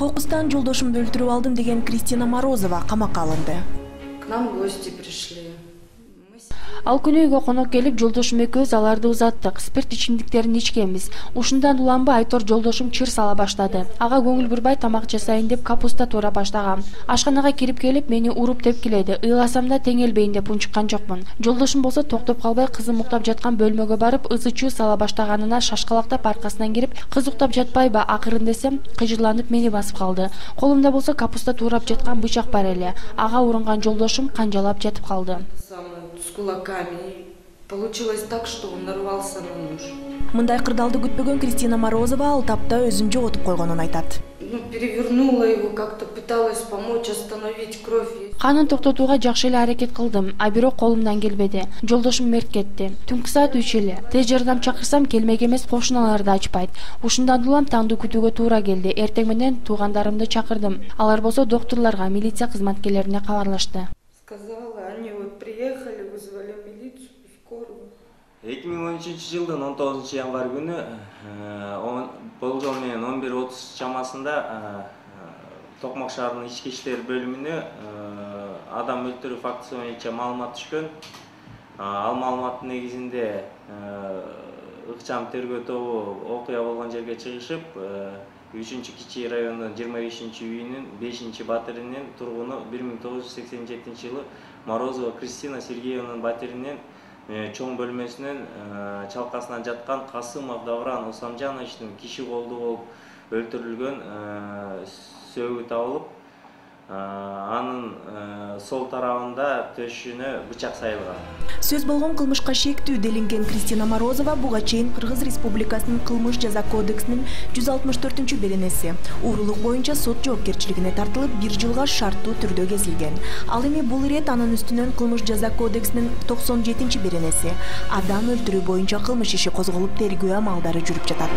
Кокустан жолдошумду өлтүрүп алдым деген Кристина Морозова камакка алынды. К нам гости пришли. Ал күнү үйгө конок келип, жолдошум экөөбүз аларды узаттык. Спирт ичимдиктерин ичкенбиз. Ушундан уланбы Айтор жолдошум чыр сала баштады. Ага көңүл бурбай тамак жасайын деп капуста туура баштагам. Ашканага кирип келип, мени уруп тепкиледи. Ыйласам да теңелбейин деп унчуккан жокмун. Жолдошум болсо токтоп калбай кызым уктап жаткан бөлмөгө барып, ызы-чуу сала баштаганына шашкалактап аркасынан кирип, кыз уктап жатпайбы акырын десем, кыжырланып мени басып калды. Колумда болсо капуста туурап жаткан бычак бар эле. Ага урунган жолдошум канжалап жатып калды. С кулаками. Получилось так, что он нарвался на нож. Мындай кырдаалды күтпөгөн Кристина Морозова ал тапта өзүн жоготуп койгонун айтат. Перевернула его, как-то пыталась помочь остановить кровь. Канын токтотууга жакшы эле аракет кылдым, а бирок колумдан келбеди. Жолдошум мерт кетти. Түнкү саат 3 эле. Тез жардам чакырсам келмек эмес, кошуналар да ачпайт. Ушундан улам таңды күтүүгө туура келди. Эртең менен туугандарымды чакырдым. Алар болсо доктурларга, милиция кызматкерлерине кабарлашты. Сказала, они вот приехали, вызвали милицию, скорую. 2013-жылдын 19 январь күнү болжол менен 11:30 чамасында Токмок шаарынын ички иштер бөлүмүнө адам өлтүрүү фактысы боюнча маалымат түшкөн. Ал маалыматтын негизинде ыкчам тергөө тобу окуя болгон жерге чыгышып, 3-Кичи районунун 25-үйүнүн 5-батиринин тургуну 1987-жылы Морозова Кристина Сергеевнанын батиринин чоң бөлмөсүнүн чалкасынан жаткан Касымов Давран Усамжановичтин киши колду болуп өлтүрүлгөн сөөгү табылып, анын сол тарабында төшүнө бычак сайылган. Сөз болгон кылмышка шектүү делинген Кристина Морозова буга чейин Кыргыз Республикасынын кылмыш жаза кодексинин 164-беренеси уурулук боюнча сот жоопкерчилигине тартылып 1 жылга шарттуу түрдө кезилген. Ал эми бул ирет анын үстүнөн кылмыш жаза кодексинин 97-беренеси адам өлтүрүү боюнча кылмыш иши козголуп тергөө амалдары жүрүп жатат.